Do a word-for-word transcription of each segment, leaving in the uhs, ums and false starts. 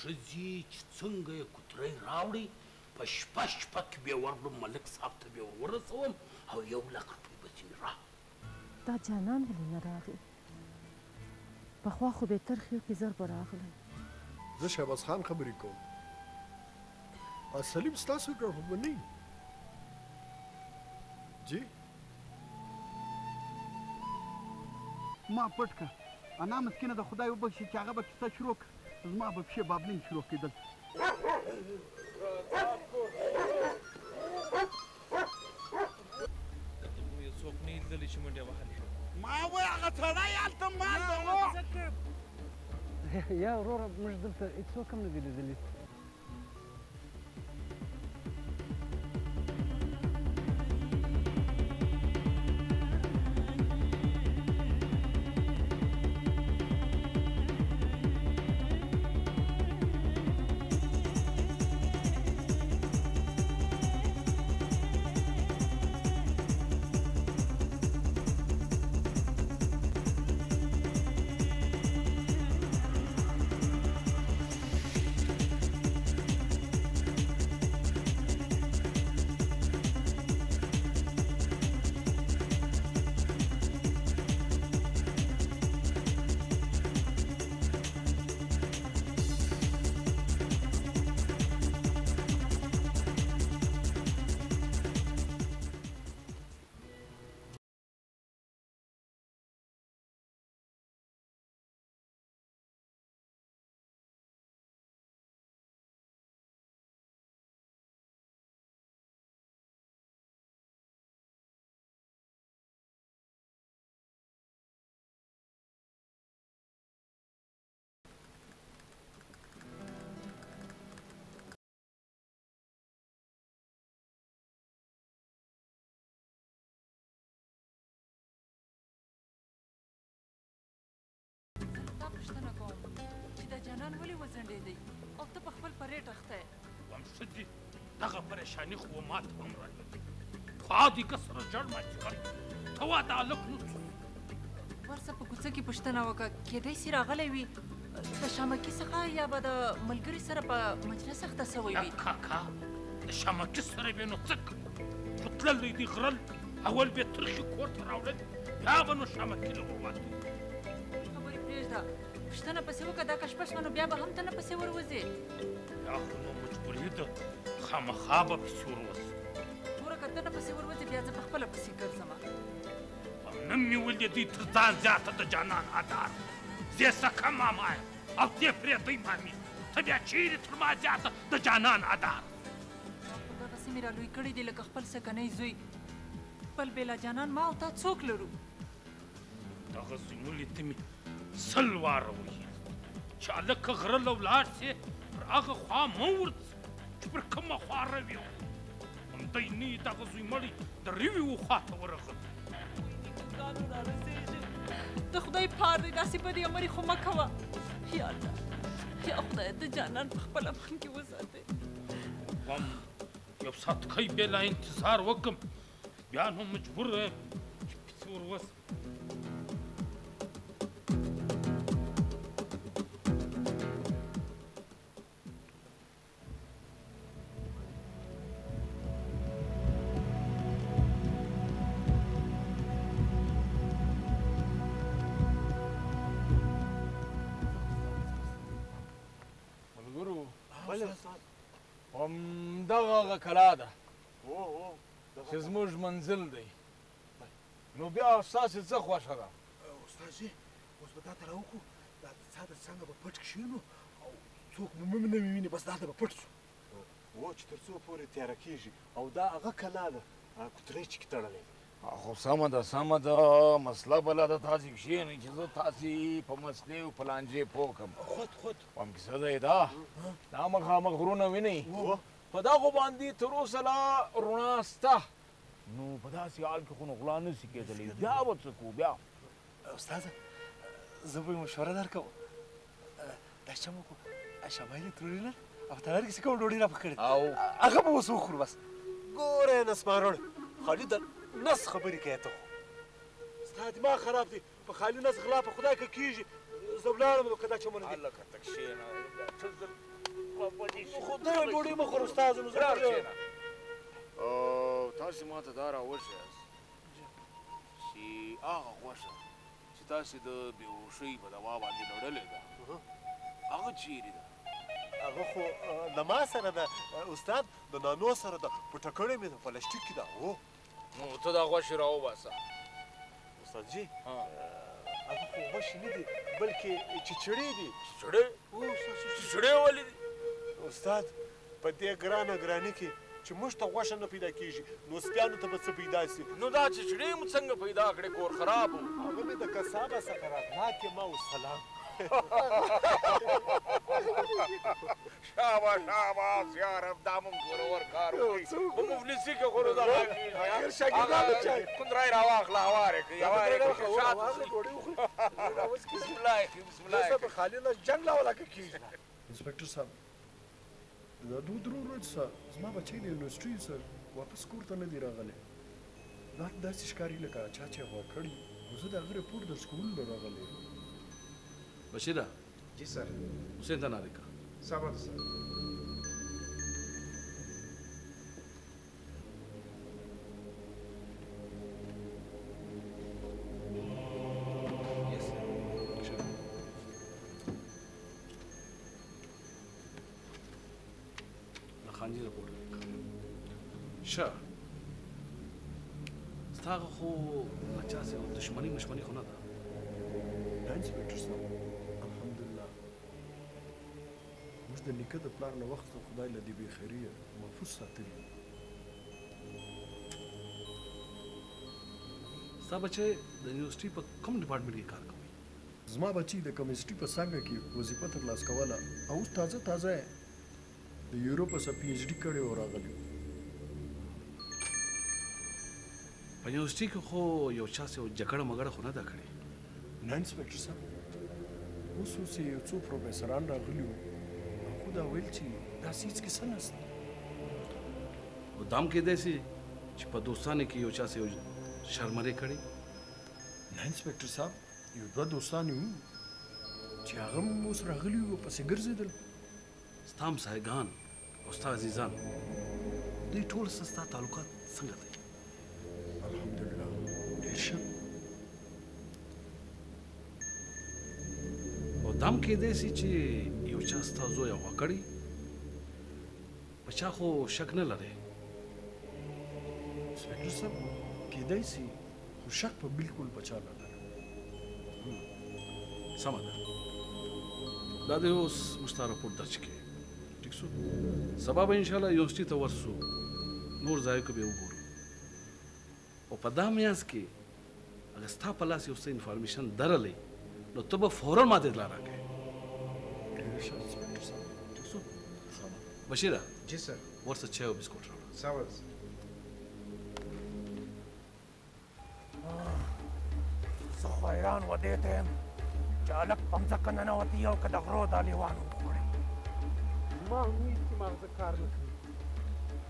ٹزی چنگ ءِ کترئی راوڑی، پش پش پک بے ورلم ملک صاحب تہ بے ورسوم، او یو لکھ روپئی بچنگ را۔ دا جانان ولے نہ راغی۔ پخوا خو بہتر خیو کہ زر براغلہ۔ زه شهباز خان خبرې کوم. آ سلیم ستاسو ګاونډی نه؟ جی؟ ما پټ کړه. انا مسکینه د خدای وبخشي چې هغه به کیسه شروع کړه. زما به پښې بابلین شروع کېدل. ته خو یې څوک نه لیدلی چې منډې وهلې. ما وایه هغه سړی هلته مال نه، وو. یا وروره، موږ دلته هیڅوک هم نه دي لیدلي. زه له تا پوښتنه کوم چې دا جانان ولې وځنډېدی او ته په خپل پرېټ اخته یې؟ وام شه دي، دغه پریشاني خو ما ته هم راغلې. خو عادي کس سره جوړ ما چې کړ. ته وا دا هلک نو ورسه په کوڅه کې پوښتنه وکړه، کېدای سي راغلی وي د شامکي څخه، یا به د ملګري سره په مجلس اخته سوی وي. کاکا، د شامکي سره وي نو څه کوي؟ خو تللی دی غرل، اول به ترخي کور ته راوړل، بیا به نو شامکي له ورواتي. خبرې پرېږده، پوښتنه پسې وکړه، دا که شپه شوه نو بیا به هم ته نه پسې وروځې. بیا خو نو مجبوري ده، خامخا به پسې وروځم. ورکه ته نه پسې وروځې، بیا زه په خپله پسې ګرځم. او نن مې ولې دوی تر ځان زیاته د جانان ادار. زه سکه ماما یم او ته پرې دوی مامي. ته بیا چیرې تر ما زیاته د جانان ادار؟ ما خو دغسې مې را لوی کړي دي لکه خپل سکنۍ زوی. خپل بېلا جانان ما او تا څوک لرو؟ دغه زوی ملي ته مې سل واره وویل چې هلکه غره له ولاړ سې، پر هغه خوا مه ورځه. چې پر کومه خوا روي او همدی نه دغه زوی مړی د روي و خوا ته ورغلو. د خدای پار دی، داسې بدې امرې خو مه کوه. یا الله، یا خدای، د جانان په خپل امان کې وساتې. وام یو ساعت کۍ بېلا انتظار وکم، بیا نو مجبور یم چې پسې وروسم. ملګرو، ولې استاد؟ همدغه هغه کلا ده، هو، هو، دغه چې زموږ منزل دی. نو بیا ستاسې څه خوښه ده؟ استاد جي، اوس به دا ته راوکړو، دا د څا تر څنګه به پټ کښېنو او څوک مو مه نه ویني، بس دلته به پټ شو. هو، چې تر څو پورې تیاره کېږي. او دا هغه کلا ده، هغه کوترۍ چې کې تړلی دی. خو سمه ده، سمه ده، مسله بله ده، تاسې کښېنئ چې زه تاسې په مسلې او په لانجې پوه کړم. خود، خود. هم کیسه ده یې دا. دا مخامخ غرونه وینئ؟ هو. په دغو باندې تر اوسه لا روناه سته. نو په داسې حال کې خو نو غلا نه سي کېدلی. بیا به څه کوو بیا؟ استاده، زه به یې مشوره درکوم. دا چمکو، شمایلي تروري نه ده؟ او تنار کې څه کوم ډوډۍ را پخ کړې. او؟ هغه به اوس وخورو بس. ګوره نس ماروړ، خالي د نس خبرې کوې ته خو. ستا دماغ خراب دی. په خالي نس غلا په خدای که کېږي. زه ولاړم، که دا چمونه دي. هلکه ته کښېنه. خو درې ډوډۍ مه خور استاد، نو زه برار کېنه. او تاسې ما ته دا راووایاست چې هغه غوښه چې تاسې د بې هوشۍ په دوا باندې لوړلې ده، هغه چیرې ده؟ هغه خو، آه، له ما سره ده، آه، استاد، د نانو سره ده، په ټکړې مې ده، پلاستیک کې ده. هو. نو ته دا غوښې راوباسه. استاد جی، ها. آه، هغه خو غوښې نه دي، بلکې چچړې دي. چچړې؟ هو، استاد جی. چچړې ولې دي؟ استاد، په دې ګرانه ګراني کې چې موږ ته غوښه نه پیدا کیږي، نو سپیانو ته به څه پیدا سي؟ نو دا چچړې مو څنګه پیدا کړې؟ کور خراب و. هغه مې د قصابه څخه راغلا، ما والسلام. شاباش، شاباش، یا رب، دا مونږ ورور کار وکړي. په مفلسي کې خو نو دا کیږي. آخر شاګردانو هغه چای. کندرای راواخله، هواره کړي، هواره کړي، شاته شي. بسم الله، بسم الله. خالي لاس جنگ لا ولا کیږي. انسپکتر صاحب، دا دوه درو ورځو سه زما بچی د یونیورسټۍ سه واپس کور ته نه دی راغلی. دا داسې ښکاري لکه چا چې غوا کړي. او زه د هغه رپورټ درس کولو له راغلی یم. بشیره. جی سر. حسین ته نارې کا. صبر سر. یس سر. د خانجي رپورٹ لیکه. شه. ستا خو له چا سره دشمني مشمني خو نه ده؟ نه انسپکتر صاحب، الحمدلله. موږ د نیکه د پلار له وخته خدای له دې بې خیریه محفوظ ساتلي. ستا بچی د یونیورسټۍ په کوم ډپارټمنټ کې کار کوي؟ زما بچی د کیمسټري په څانګه کې وظیفه ترلاسه کوله او اوس تازه تازه یې د یورپ سره پي ایچ ډي کړې او راغلی. په یونیورسټي کې خو یو چا سره جګړه مګړه خو نه ده کړې؟ نه انسپکتر صاحب، اوس اوس یې یو څو پروفیسران راغلي وو، هغو دا ویل چې داسې هیڅ کیسه نشته. او دا هم کېدای سي چې په دوستانو کې یو چا سره یو شرمرې کړې؟ نه انسپکتر صاحب، یو دوه دوستان یې وو چې هغه هم اوس راغلي وو، پسې ګرځېدل. ستا همسایه‌ګان او ستا عزیزان، دوی ټول سره ستا تعلقات څنګه دی؟ الحمدلله، ډېر ښه. او دا هم کېدای سي چې یو چا ستا زوی اغوا کړی؟ په چا خو شک نه لرې؟ انسپکتر صاحب، کېدای سي، خو شک په بالکل په چا نه لرم. هم. سمه ده. دا دې اوس موږ ته رپورټ درج کړي. ٹھیک سو؟ سبا به انشاءالله یونیورسٹي ته ورسو. نور ځایو کې به وګورو. او په دا میانس کې اگه ستا په لاس یو څه انفارمیشن درغلی، نو ته به فوراً ما ته اطلاع راکړې. ډېر ښه، انسپکتر صاحب. ٹھیک سو؟ سلامت. بشیره. جی سر. ورسره چای او بسکوټ راوړه. سمه ده سر. زه خو حیران و دې ته یم چې هلک په مځکه ننوتی او که د غرو دا لیوان وخوړی. زما هم وي چې ماغزه کار نه کوي.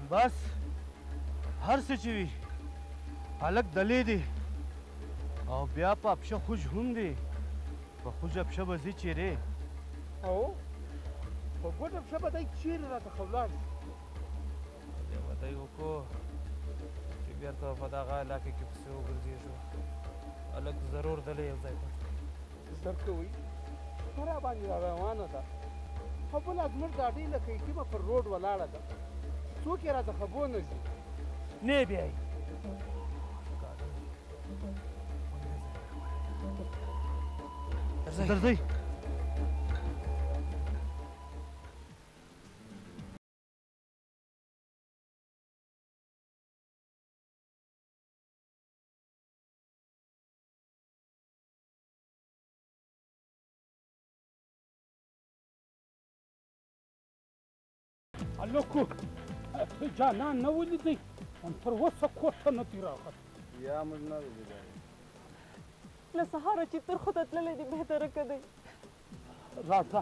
بس، هر څه چې وي، هلک دلې دی او بیا په پشه خوج هم دی. په خوجه پشه به ځي چیرې؟ او په ګوډه پشه به دی چیرې راته خلاص؟ دې وته یې وکړو چې بیرته په دغه علاقه کې پسې وګرځېږو. هلک ضرور دلې یو ځای پټ دی. درکوي، سره باندې را روانه ده. خو بله زموږ ګاډۍ لکه یتیمه پر روډ ولاړه ده. څوک یې راته خبو نه ځي. نه بیایي. درځئ. درځئ. الکو، جانان نه ولیدی، هم تر اوسه کور ته نه دی راغلی. یا موږ نه ولیدی. له سهاره چې تر خو ته تللی دی، بهتره که دی. راځه.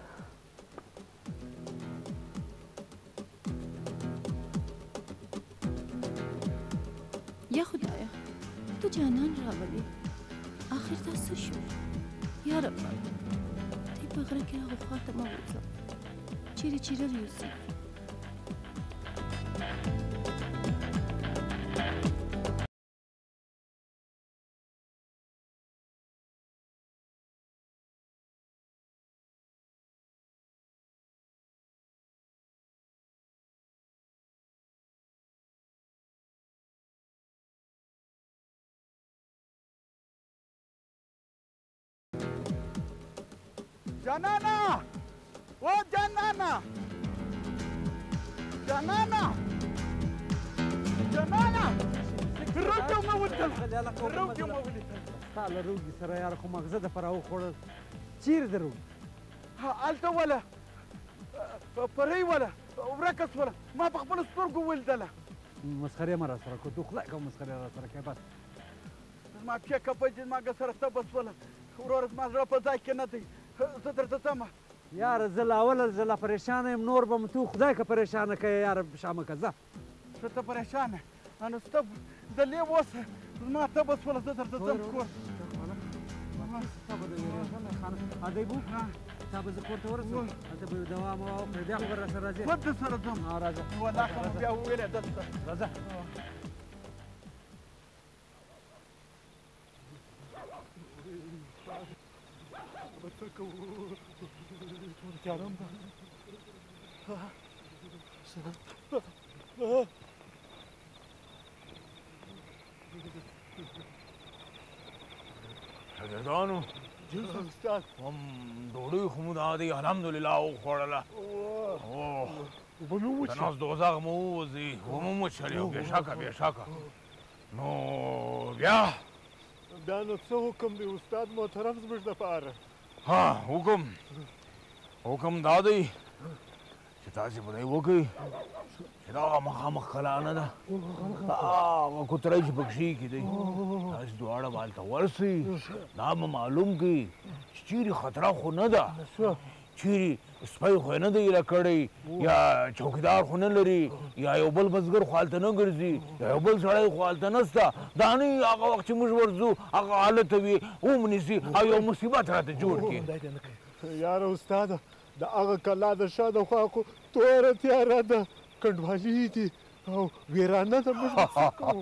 یا خدایه، ته جانان راولې. آخر دا څه شو؟ یا ربه، دې په غره کې هغه خوا ته مه بوزه. چیرہ چیرہ ریوسی۔ جنانا! او جنانا! جنانا! جنانا! روٹو مہ ولتل۔ روٹو مہ ولتل۔ تالا روگی سرا یار خو مغزہ دا پراو خوڑل۔ چیر دروگی۔ ہا، التو والا۔ پرئی والا۔ ورکس والا۔ ما پخپل سترگو ولدلا۔ مسخرے مرا سرا کو تو خدای کا مسخرے را سرا کہ بس۔ زما پیا کپئی جن ما گسر تبس ولا۔ ورور زما زڑا پہ ذائقہ نہ دی۔ زدر دتما۔ یار زل اول زل پریشان ایم نور بم تو خدای کا پریشان کہ یار شام کا زا۔ شتا پریشان ہے۔ انس تب دلی وس زما تبس ولا زدر دتم کور۔ ادے بو۔ ہاں۔ تب ز کور تو ورس۔ ادے بو دوا موا بیا خبر سر راجے۔ خود سر دم۔ ہاں راجا۔ والله کم بیا ویلے دست۔ راجا۔ شاگردانو۔ جی سر استاد۔ ہم ڈوڈوی خمود آدی الحمدللہ او خوڑلا۔ اوہ۔ اوہ۔ اوبہ مو مچ۔ تناس دوزاغ مو وزی، اوبہ مو مچ ہلیو، بے شک، بے شک۔ نو بیا۔ بیا نو څه حکم دی استاد محترم زموږ دپاره؟ ہاں، حکم، حکم دا دی چې تاسې په دې وکړئ چې دا مخامخ کلا نه ده. دا هغه کوترۍ چې پکې کېدی. تاسې دواړه به هلته ورسئ. دا به معلوم کړئ چې چیرې خطره خو نه ده. چیرې سپی خو یې نه دی ایله کړی، یا چوکیدار خو نه لري، یا یو بل بزګر خو هلته نه ګرځي، یا یو بل سړی خو هلته نسته. دا نه وي هغه وخت چې موږ ورځو، هغه حالت وي، ومنیسي او یو مصیبت راته جوړ کړي. یاره استاده، د هغه کلا د شا د خوا خو توره تیاره ده، کنډوالي دي. او ویرانه ده، موږ به څه کوو؟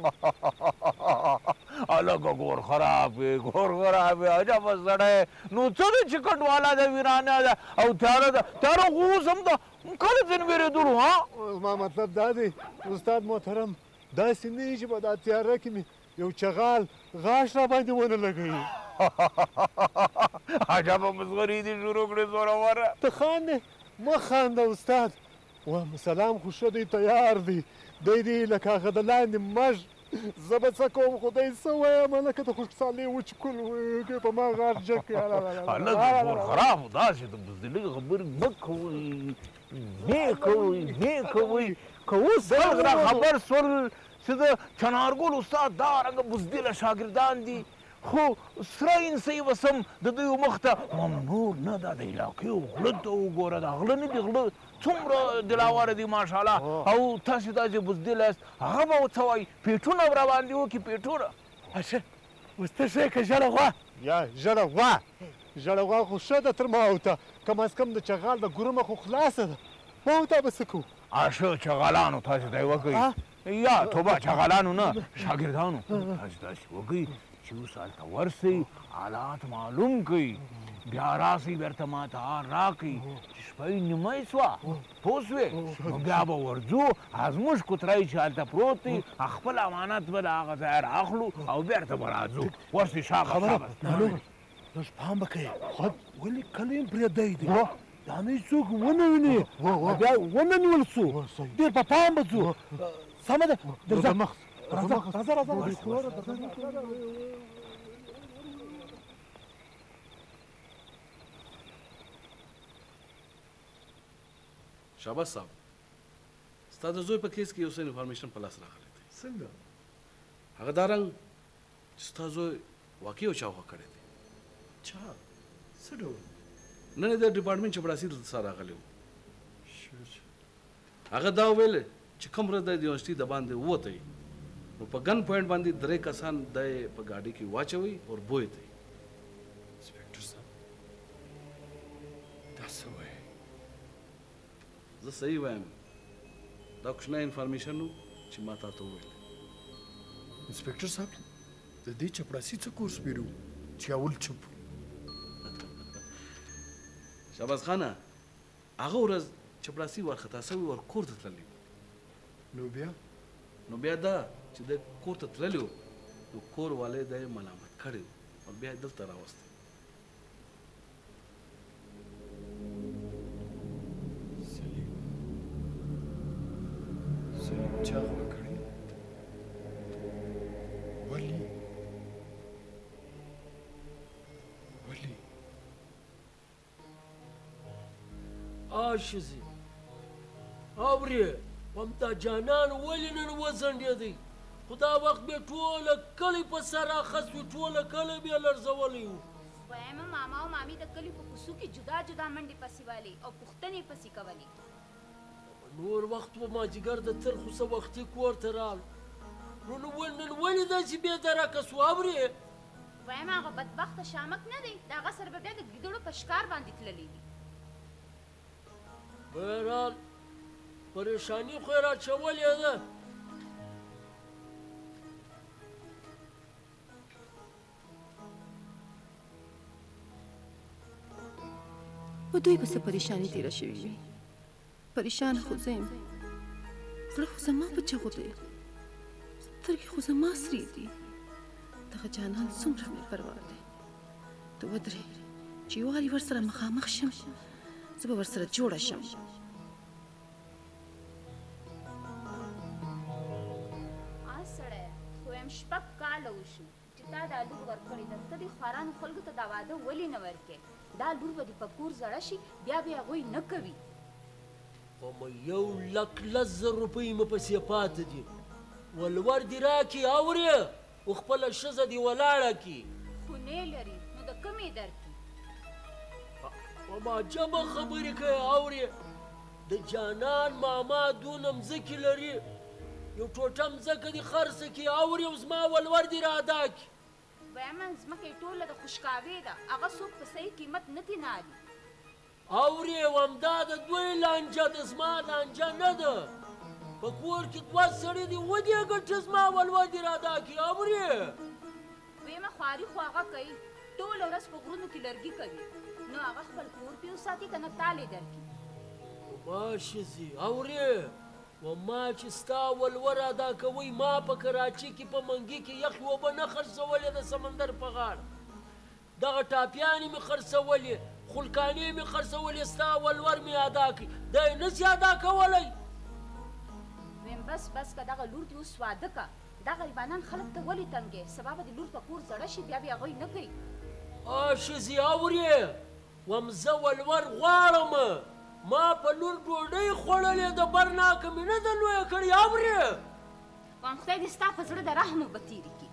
الکه ګور خراب وي، ګور خراب وي، عجبه سړی. نو څه ده چې کنډواله ده، ویرانه ده او تیاره ده؟ تیاره خو اوس هم ده، کله ځین ویرېدلو، ها؟ زما مطلب دا دی، استاد محترم، داسې نه وي چې په دا تیاره کې مې یو چغال غاښ را باندې ونه لګوي. عجبه مسخري دي شروع کړې، زوروره. ته خاندې؟ مه خانده استاد. وام سلام خو ښه دی، تیار دی. دی دی لکه هغه د لاندې مژ. زه به څه کوم، خو دی څه وایم، لکه د خوشحالۍ وچکول وي، په ما غار جک. هلکه ګور خراب، داسې د بزدلۍ خبرې مه کوئ. مه کوئ، مه کوئ. که اوس خلک را خبر سول چې د چنارګل استاد دا رنګه بزدله شاګردان دي، خو سره انسۍ وسم د دوی مخ ته ممنوع نه ده. د علاقې غله ته وګوره، دا غله نه دي، غله څومره دلاوره دي ماشاءالله. او تاسې داسې بزدل یاست، هغه به څه وایي؟ پیټونه به راباندې وکړي، پیټونه. اشه، اوس ته شه که ژړه غوا؟ یا، ژړه غوا. ژړه غوا خو ښه ده تر ما او ته. کم از کم د چغال د ګرومه خو خلاصه ده. ما او ته به څه کوو؟ آ، شه، چغالانو تاسې ته یې وکړئ. آ؟ یا، توبه، چغالانو نه، شاګردانو. تاسې داسې وکړئ چې اوس هلته ورسئ، حالات معلوم کړئ. بیا راسئ، بیرته ما ته حال راکړئ چې شپه یې نیمه سوه. پوه سوې؟ نو بیا به ورځو، زموږ کوترۍ چې هلته پروت دی، خپل امانت به له هغه ځایه رااخلو او بیرته به راځو. ورسې، شاباس، خبره شاباس. معلومه. لږ پام به کوې. خود. ولې کله یې پرې دی دی؟ وه. دا نه څوک ونه ویني. وه، وه. بیا ونه نیول سو. وه، صحیح. ډېر په پام به ځو. وه. سمه ده. درځه. راځه، راځه، راځه، راځه. شاباس صاحب. ستا د زوی په کیس کې یو څه انفارمیشن په لاس راغلی دی. څنګه؟ هغه دا رنګ چې ستا زوی واقعي یو چا غوه کړی دی. چا؟ څه ډول؟ نن یې د ډپارټمنټ چپړاسي دلته سره راغلی و. شه، شه. هغه دا ویل چې کوم ورځ دی د یونیورسټي د باندې ووتی، نو په ګن پوینټ باندې درې کسان دی په ګاډي کې واچوي او بوی ته. انسپکټر صاحب، دا څه وایي؟ صحیح وایم۔ دا کچھ نہ انفارمیشن ءُ، چی ما تا تو ویل۔ انسپکٹر صاحب، دا دے چپڑاسی تے کورس پیرو، چی اول چپ۔ شہباز خان آ، ہغہ ورځ چپڑاسی وارخطا سوی اور کور تے تللی۔ نو بیا؟ نو بیا دا چی دے کور تے تللی ءُ، نو کور والے دے ملامت کھڑے ءُ اور بیا دلتا راوستے۔ سلیم، سلیم چاغ وکڑی۔ ولی، ولی۔ آ شزی۔ اوریہ، ہمدا جانان ولی نن وزنڈیدی۔ خدا وخت بیا ٹول کلی پہ سرا خسوی، ٹول کلی بیا لڑزولی ءُ۔ ویمہ ماما و مامی دا کلی پہ کسوکی جدا جدا منڈی پسی والی او پختنی پسی کولی۔ نور وخت و ما جگر دا تر خسا وختی کور ترال۔ نن ول-، نن ولی داسی بے درک اسو اوریہ۔ ویمہ آغا بدبخت شامک نہ دی، داغا سر بہ بیا دا گیدڑو پشکار باندی تللی دی۔ بہرحال، پریشانی خو ارا چولی ءِ دہ۔ و دوئی بس پریشانی تیرا شوی وی۔ پریشان خو زیم۔ زڑہ خو زما پچا خو دے۔ سترگی خو زما سری دی۔ دغه جانان څومره مې پروا دی۔ ته ودرې، چې واري ورسره مخامخ شم، زه به ورسره جوړه شم. آ سړیه، خو هم شپږ کاله وشو چې تا دا لور ورکړې ده. ته دې خوارانو خلکو ته دا واده ولې نه ورکې؟ دا لور به دې په کور زړه شي، بیا به یې هغوی نه کوي. خو مه یو لک لس زر روپۍ مه پسې پاتې دي. ولور دې راکې، اورې؟ او خپله ښځه دې ولاړه کړي. خو نه لري، نو د کومې درکړي؟ او ما عجبه خبرې کوې، اورې؟ د جانان ماما دونه مځکې لري، یو ټوټه مځکه دې خرڅه کړي، اورې؟ او زما ولور دې را ادا کړي. وایم، ځمکه یې ټوله د خوشکاوې ده، هغه څوک په صحیح قیمت نه ترې نه اخلي. اورې، او همدا د دوی لانجه ده، زما لانجه نه ده. په کور کې دوه سړي دي، ودې ګټه زما ولور دې را ادا کړي، اورې؟ ویمه، خواري خو هغه کوي، ټوله ورځ په غرونو کې لرګي کوي، نو هغه خپل کور پرې وساتي، که نه تالې درکړي. ماشي ځي، اورې؟ و ما چې ستا ولور ادا کوی، ما په کراچي کې په منګي کې یخې اوبه نه خرڅولې د سمندر په غاړه. دغه ټاپیانې مې خرڅولې، خلکانې مې خرڅولې، ستا ولور مې ادا کړي. دا یې نسي ادا کولی. ویم بس، بس که دغه لور دې اوس واده که. دا غریبانان خلک ته ولې تنګې؟ سبا به دې لور په کور زړه شي، بیا به یې هغوی نه کوي. آ ښځې اورې؟ وم زه ولور غواړم. ما په لور ډوډۍ خوړلې، د برناکه مې نه ده لویه کړې، اورې؟ وام خدای دې ستا په زړه د رحم اوبه تېرې کړي.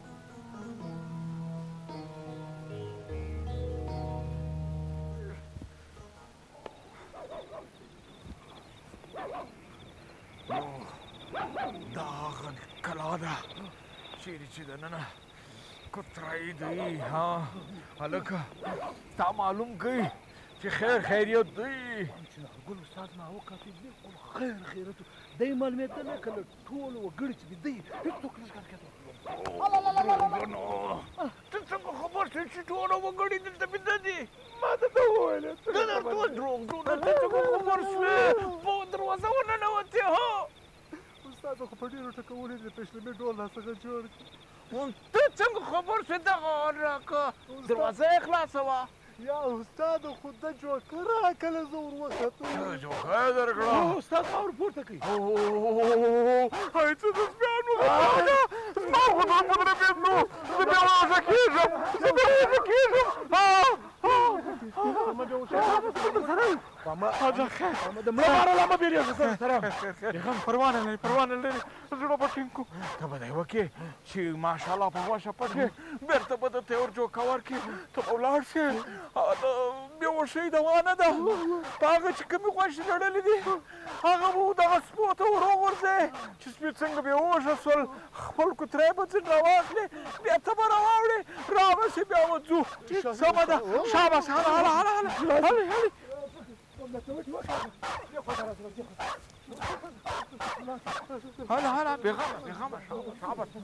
دا هغه کلا ده چیرې چې دننه کوترې دی. ها، هلکه، تا معلوم کوي چې خیر خیریت دی؟ چې نورګل استاد ما وکتل، بالکل خیر خیریت دی. دی معلومیت نه کله ټول وګړي چې دی، هیڅوک نه ښکار کېدو. ته څنګه خبر شوې چې ټول وګړي دلته بیده دي؟ ما ته ته وویل. ته ته دروغ جوړه، ته ته خبر شوې؟ په دروازه وننوتې، هو. استاد خو په ډېرو ټکو ولې د پېشلمې ډول راڅخه جوړ کړ. ته څنګه خبر شوې دغه حال راکه؟ استاد. دروازه یې خلاصه وه. یا استاد، خو د جوکه راکله زه ور وختم. ته جوکه یې درکړه. هو، استاد ما ور پورته کړ. او، او، او، او، او، او، هاي ته د سپیانو خبره ده. زما خو دا په زړه بېل نو. زه بې هوشه کېږم. زه بې هوشه کېږم. آه. مه بې هوشه کېږه. ماما، خیر. ماما، د مړه باره لا مه بېرېږه، سره، سره. خیر، خیر، خیر. بېغم پروا نه لري، پروا نه لري. زړه به ټینګ کړو. ته به دی وکې چې ماشاءالله په غوشه پکې، بېرته به د تیور جوکه ورکې، ته به ولاړ شې. هغه د بې هوشۍ دوا نه ده. په هغه چې کومې غوشې لرلې دي، هغه به دغه سپو ته ور وغورځوې. چې سپي څنګه بې هوشه سول، خپل کوتری به ځینې راواخلې، بیا ته به راواوړې، رابه شې، بیا به ځو. سمه ده. شاباس، هله، هله، هله، هله. هلې، هلې. ہلا، ہلا، بے غم، بے غم، شاباش، شاباش۔